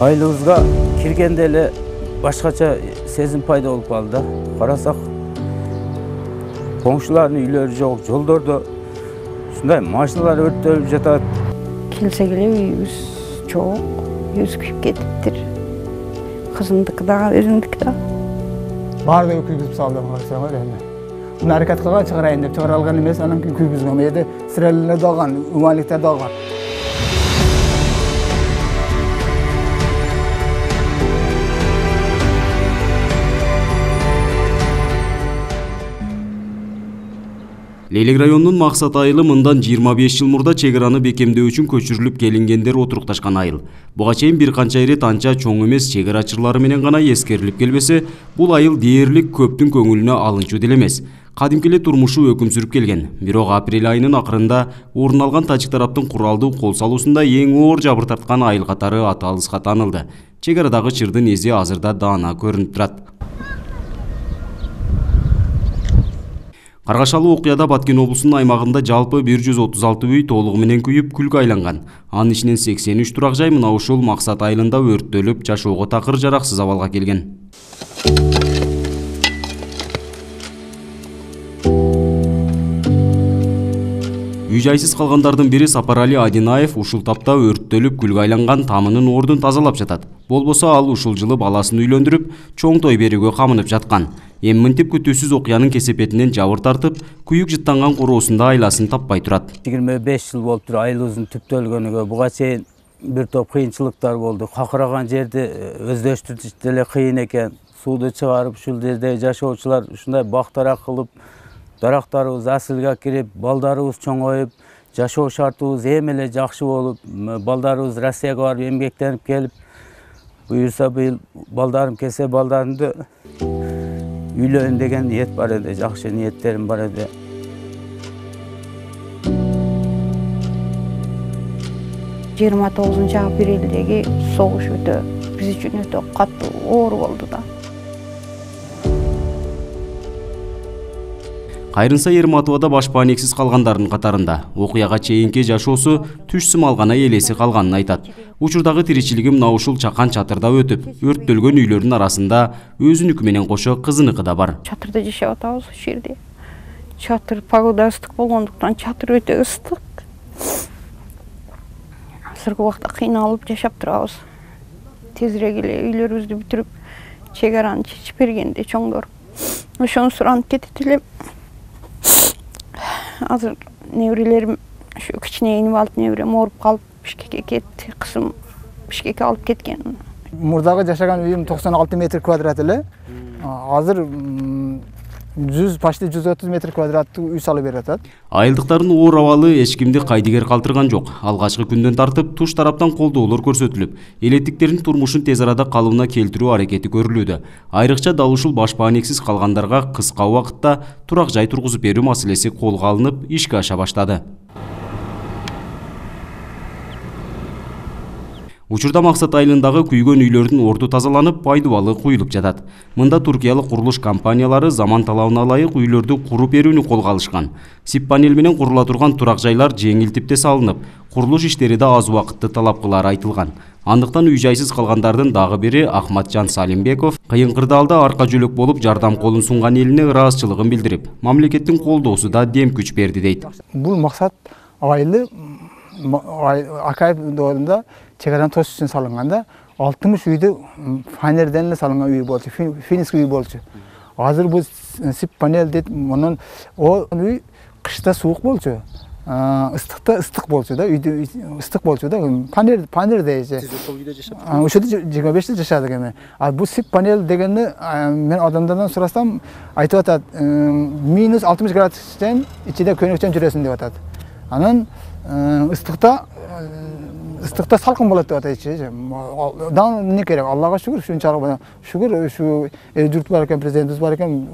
Айылыбызга киргенде эле башкача сезим пайда болуп калды да. Карасак, коңшулардын үйлөрү жок, жолдордо ушундай машиналар өрттөлүп жатат. Келсе келе үйүбүз жок, үйүбүз күйүп кетиптир. Кызымдыкы да, өзүмдүкү да. Баардыгы күйгүзүп салды карасаңар эми. Муну аракет кылган чыгарайын деп чыгара алган эмес, анан кийин күйгүзгөн. Эде сирелер да алган, умаликтер да алган. Лейлек районунун Максат айылы мындан 25 жыл мурда чек араны бекемдөө үчүн көчүрүлүп келингендер отурукташкан айыл. Буга чейин бир канча ирет анча чоң эмес чек арачылары менен гана эскерилип келбесе, бул айыл дээрлик көптүн көңүлүнө алынчу деле эмес. Кадимки эле турмушу өкүм сүрүп келген. Бирок апрель айынын акырында орун алган тажик тараптын куралдуу кол салуусунда эң оор жабыр тарткан айыл катары аты алыска таанылды. Чек арадагы чырдын изи азырда даана көрүнүп турат. Каргашалуу окуяда Баткен облусунун аймагында жалпы 136 үй толугу менен күйүп, күлгө айланган. Анын ичинен 83 турак жай мына ушул Максат айылында өрттөлүп, жашоого такыр жараксыз абалга келген. Үй жайсыз калгандардын бири Сапарали Адинаев ушул тапта өрттөлүп, күлгө айланган тамынын ордун тазалап жатат. Болбосо ал ушул жылы баласын үйлөндүрүп, чоң той берүүгө камынып жаткан. Эми мынтип күтүүсүз окуянын кесепетинен жабыр тартып, күйүк жыттанган короосунда айласын таппай турат. 25 жыл болуптур айылыбыздын түптөлгөнүгө. Буга чейин бир топ кыйынчылыктар болду. Какыраган жерди өздөштүрүш деле кыйын экен. Сууду чыгарып, ушул жерде жашоочулар ушундай бактарак кылып, дарактарыбыз асылга кирип, балдарыбыз чоңоюп, жашоо шартыбыз эми эле жакшы болуп, балдарыбыз Россияга барып эмгектенип келип, буюрса быйыл балдарым келсе, балдарымды үйлөнүн деген ниет бар эди, жакшы ниеттерим бар эди. Жыйырма 9 апрелдеги согуш өтө биз үчүн өтө катуу оор болду да. Кайрынса Ерматовада баш паанексиз калгандардын катарында. Окуяга чейинки жашоосу түш сым алгана элеси калганын айтат. Учурдагы тиричилиги мына ушул чакан чатырда өтүп, өрттөлгөн үйлөрдүн арасында өзүнүкү менен кошо кызыныкы да бар. Чатырда жашап атабыз ушул жерде. Чатыр погода ыстык болгондуктан чатыр өтө ыстык. Азыркы убакта кыйналып жашап турабыз. Тезирээк эле үйлөрүбүздү бүтүрүп, чек араны чечип бергенде чоңдор. Ошону суранып кетет элем. Азыр неберелерим, ушу кичине инвалид неберем ооруп калып Бишкекке кетти. Кызым Бишкекке алып кеткен. Мурдагы жашаган үйүм 96 метр квадрат эле. Азыр почти 130 метр квадраттуу үй салып берип атат. Айылдыктардын оор абалы эч кимди кайдыгер калтырган жок. Алгачкы күндөн тартып туш тараптан колдоолор көрсөтүлүп, элеттиктердин турмушун тез арада калыбына келтирүү аракети көрүлүүдө. Айрыкча дал ушул баш паанексиз калгандарга кыска убакытта турак жай тургузуп берүү маселеси колго алынып, ишке аша баштады. Учурда Максат айылындагы күйгөн үйлөрдүн орду тазаланып, пайдубалы куюлуп жатат. Мында туркиялык курулуш компаниялары заман талабына ылайык үйлөрдү куруп берүүнү колго алышкан. Сип панель менен курула турган турак жайлар жеңил типте салынып, курулуш иштери да аз убакытты талап кылары айтылган. Андыктан үй жайсыз калгандардын дагы бири Ахматжан Салимбеков кыйын кырдаалда арка жөлөк болуп жардам колун сунган элине ыраазычылыгын билдирип, мамлекеттин колдоосу да дем күч берди дейт. Бул Максат айылы Акаев доорунда чек аранын тош үчүн салынганда 60 үйдү фанерден эле салынган үй болчу, финский үй болчу. Азыр бул сип панель дейт, мунун үй кышта суук болчу. Ыстыкта ыстык болчу да, үйдө ыстык болчу да. Панель дейчи. Сиз ошол үйдө жашап? Ошол 25 жыл жашадык эми. Бул сип панель дегенди мен адамдардан сурасам айтып атат, минус 60 градустан ичинде көнөкчөн жүрөсүң деп атат. Анан ыстыкта салкын болот деп атайчы. Да эмне керек? Аллага шүгүр, ушунчалык шүгүр, ушу журт бар экен, президентибиз бар экен,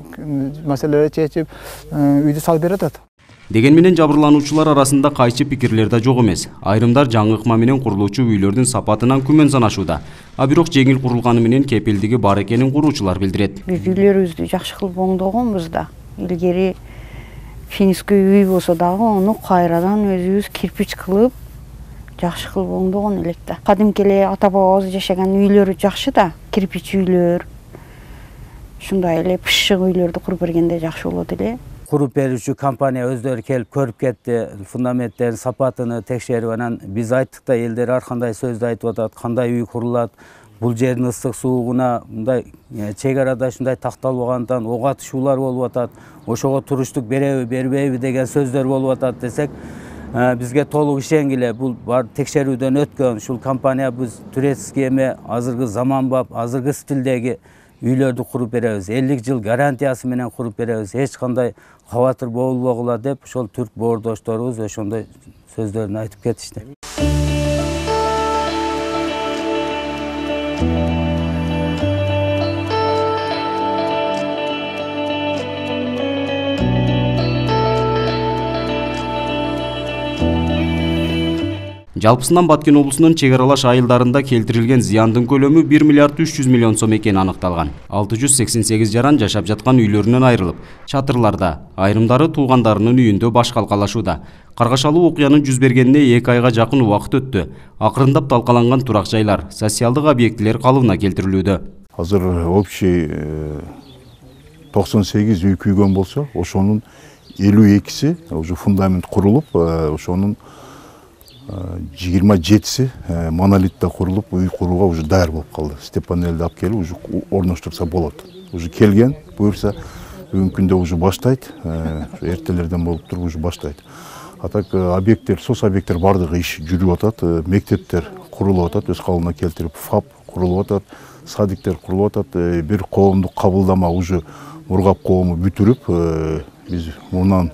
маселелерди чечип, үйдү салып берип атат. Деген менен жабырлануучулар арасында кайчы пикирлер да жок эмес. Айрымдар жаңы ыкма менен курулуучу үйлөрдүн сапатынан күмөн санашууда. Бирок жеңил курулганы менен кепилдиги бар экенин куруучулар билдирет. Биз үйлөрүбүздү жакшы кылып оңдогонбуз да. Илгери финский үй болсо дагы, ону кайрадан өзүбүз кирпич кылып, жакшы кылып оңдогон элек да. Кадимки эле ата бабабыз жашаган үйлөрү жакшы да, кирпич үйлөр. Ушундай эле пышык үйлөрдү куруп бергенде жакшы болот эле. Куруп берүүчү компания өздөрү келип көрүп кетти, фундаменттердин сапатыны текшерип, анан биз айттык да, элдер ар кандай сөздү айтып атат, кандай үй курулат, бул жердин ысык суугуна мындай чек арада ушундай такталбагандан ок атышуулар болуп атат, ошого туруштук береби, бербейби деген сөздөр болуп атат десек, бизге толук ишенгиле, бул бар текшерүүдөн өткөн, ушул компания биз турецкий эме азыркы заманбап, азыркы стилдеги үйлөрдү куруп беребиз, 50 жыл гарантиясы менен куруп беребиз, эч кандай кабатыр болбогула деп ошол түрк боордошторубуз ошондой сөздөрүн айтып кетишти. Жалпысынан Баткен облусунун чек аралаш айылдарында келтирилген зыяндын көлөмү 1 миллиард 300 миллион сом экени аныкталган. 688 жаран жашап жаткан үйлөрүнөн айрылып, чатырларда, айрымдары туугандарынын үйүндө баш калкалашууда. Каргашалуу окуянын жүз бергенине 2 айга жакын убакыт өттү. Акырындап талкаланган турак жайлар, социалдык объектилер калыбына келтирилүүдө. Азыр общий 98 үй күйгөн болсо, ошонун 52-си уже фундамент курулуп, ошонун 27-си монолитте курулуп, үй курууга уже даяр болуп калды. Степанелди алып келип уже орноштурса болот. Уже келген, буюрса бүгүнкү күндө уже баштайт, эртелерден болуп туруп уже баштайт. А так объекттер, сос объекттер бардыгы иш жүрүп атат, мектептер курулуп атат, өз калыбына келтирип, ФАП курулуп атат, садиктер курулуп атат, бир коомдук кабылдама уже Мургап коому бүтүрүп, биз мундан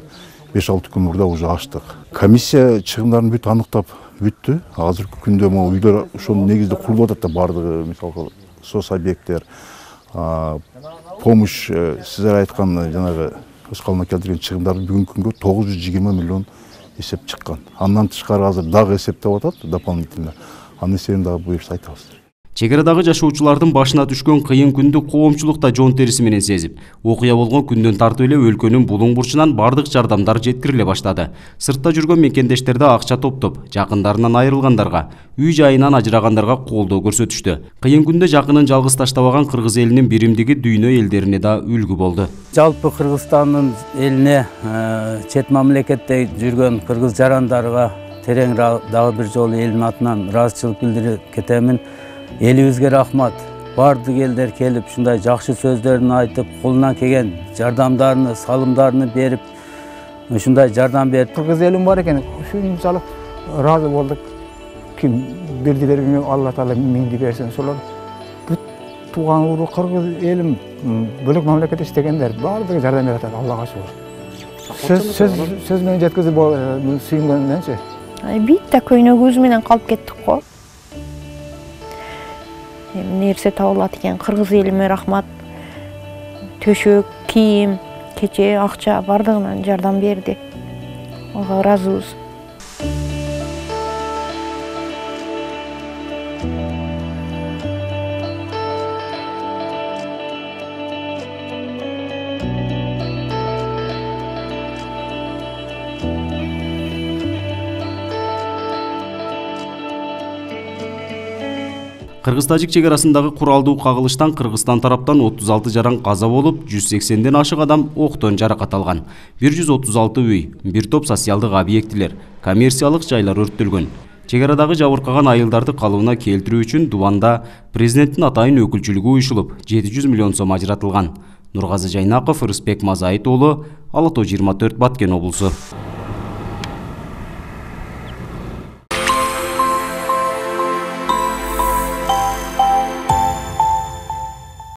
5-6 күн мурда уже ачтык. Комиссия чыгымдарын бүт аныктап бүттү. Азыркы күндө могу үйлөр ошонун негизинде курулуп атат да, бардыгы, мисалга сос объекттер, помощь, сиздер айткан жанагы өз калыбына келтирген чыгымдарды бүгүнкү күнгө 920 миллион эсеп чыккан. Андан тышкары азыр дагы эсептеп атат дополнительно. Анын эсебин дагы буюрса айтабыз. Чек арадагы жашоочулардын башына түшкөн кыйын күндү коомчулук да жон териси менен сезип, окуя болгон күндөн тартып эле өлкөнүн булуң бурчунан бардык жардамдар жеткириле баштады. Сыртта жүргөн мекендештер да акча топтоп, жакындарынан айрылгандарга, үй жайынан ажырагандарга колдоо көрсөтүштү. Кыйын күндө жакынын жалгыз таштабаган кыргыз элинин биримдиги дүйнө элдерине да үлгү болду. Жалпы Кыргызстандын элине, чет мамлекетте жүргөн кыргыз жарандарга терең дагы бир жолу элдин атынан ыраазычылык билдирип кетемин. Элибизге рахмат. Бардык элдер келип, ушундай жакшы сөздөрүн айтып, колунан келген жардамдарын, салымдарын берип, ушундай жардам берип. Кыргыз элим бар экен, ушунчалык ыраазы болдук. Ким бирдилерге Алла Таала миңди берсин, ошолор бүт тууган урук кыргыз элим бөлөк мамлекетте иштегендер бардыгы жардам берип атат, Аллага шүгүр. Сөз менен жеткизип сүйүнгөндөнчү. Бит да көйнөгүбүз менен калып кеттик го. Нерсе табылат экен, кыргыз элиме рахмат. Төшөк, кийим, кече, акча бардыгынан жардам берди. Ага ыраазыбыз. Кыргыз-тажик чек арасындагы куралдуу кагылыштан Кыргызстан тараптан 36 жаран каза болуп, 180ден ашык адам октон жаракат алган. 136 үй, бир топ социалдык объектилер, коммерциялык жайлар өрттөлгөн. Чек арадагы жабыркаган айылдарды калыбына келтирүү үчүн Дубанда президенттин атайын өкүлчүлүгү уюшулуп, 700 миллион сом ажыратылган. Нургазы Жайнаков, Рыспек Мазайыт уулу, Ала Тоо 24, Баткен облусу.